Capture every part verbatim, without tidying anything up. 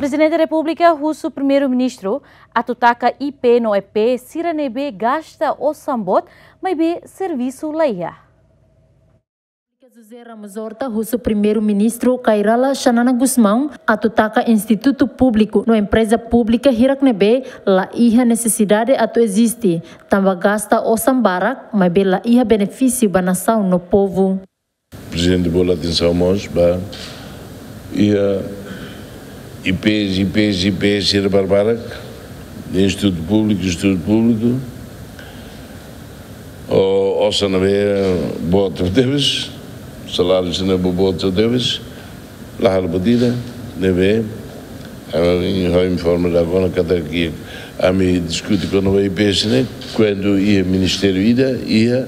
Prezidente Repúblika husu Primeiru-Ministru atu taka I P no E P sira ne'ebé gasta osan boot, maibé servisu laiha. José Ramos Horta husu Primeiru-Ministru Kay Rala Xanana Gusmão atu taka institutu públiku no empreza públika hirak ne'ebé laiha nesesidade atu eziste, tanba gasta osan barak, maibé laiha benefísiu ba nasaun no povu. Prezidente bola atensaun mós ba iha I Ps, I Ps, I Ps sira barbarak, de institutu públiku, institutu públiku, o osan ne'ebé boot tebes, saláriu sira ne'ebé boot tebes, la halo buat ida, ne'ebé, ami informa dala ruma katak ami diskute kona-ba I Ps ne'e, kuandu iha ministériu ida, iha,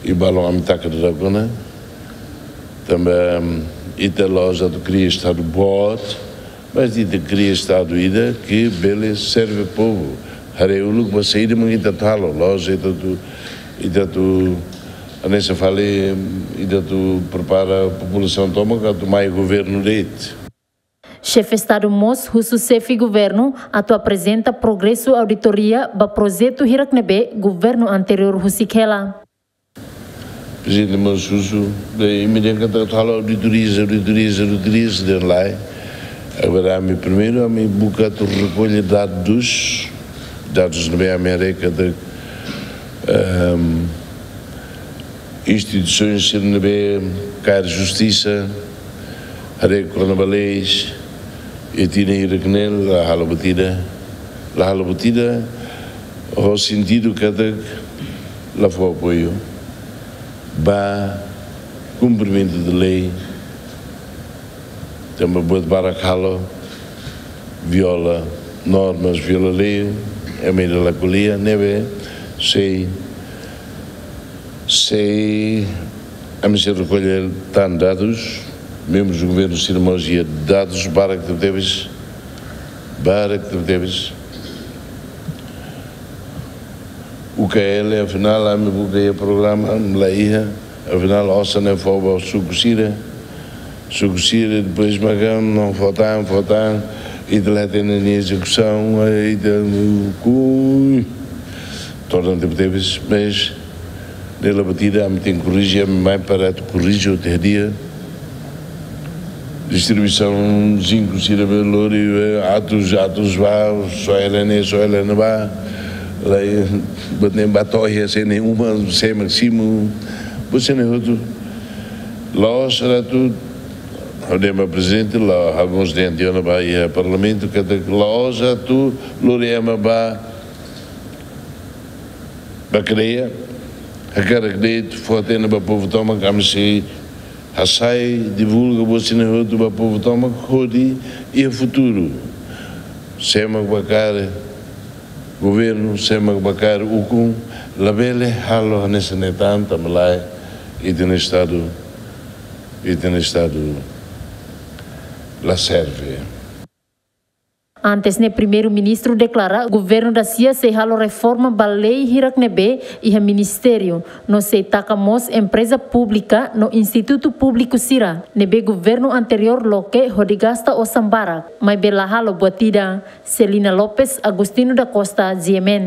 i balun ami taka dala ruma, tanba, ita la'ós atu kria estadu boot, mas ita kria estadu ida ke bele serve povu. Haree uluk ba saida mak ita atu halo, la'ós ita atu, ita atu, hanesan fali, ita atu prepara populasaun tomak atu mai governu de'it. Xefe Estadu mós husu xefe governu atu aprezenta progresu auditoria ba projetu hirak ne'ebé governu anteriór husik hela. Prezidente mós husu, de imediato katak atu halo auditorias, auditorias, auditorias, dehan lae. Agora ami primeiru, ami buka atu rekolla dadus, dadus ne'ebé ami haree katak, ehm, instituisoens sira ne'ebé kaer justisa, haree kona-ba leis, i tinan hirak ne'e la halo buat ida, la halo buat ida, ho sentidu katak la fó apoiu ba kumprimentu de lei, tanba buat barak halo, viola normas, viola lei, ami la ko'alia, ne'ebé sei, sei, ami sei rekolla tan dadus, membrus governu sira mós iha dadus barak tebetebes, barak tebetebes. U K L, afinál, ami buka iha programa, la iha, afinál, osan ne'e fó ba suku sira, suku sira, depois maka, não, fó tan, fó tan, ita la hatene nia ezekusaun, ita, kui, torna tebetebes, mas, ne'e la buat ida, ami tenke korrije, ami mai para atu korrije hotu iha di'ak. Distribuisaun zinku sira be lori, eh, atus, atus ba, só ela ne'e, só ela ne'e ba. Lae, buat ne'e ba to'o iha sé ne'e uma, sé másimu. Buat sira-ne'e hotu. La'ós atu, ha'u dehan ba prezidente, la, ha'u mós dehan tiha ona ba iha parlamentu, katak la'ós atu lori ema ba, ba kadeia, hakarak de'it fó hatene ba povu tomak, ami sei hasai, divulga buat sira-ne'e hotu ba povu tomak, hodi iha futuru, sé mak ba kaer governu, sé mak ba kaer ukun, labele halo hanesan ne'e tan, tanba lae, ita-nia estadu, ita-nia estadu la serve. Antes ne'e Primeiru-Ministru deklara, governu dasia sei halo reforma ba lei hirak ne'ebé iha ministériu, no sei taka mós empreza públika no institutu públiku sira ne'ebé governu anteriór loke hodi gasta osan barak, maibé la halo buat ida. Celina Lopes, Agostinho da Costa, G M N.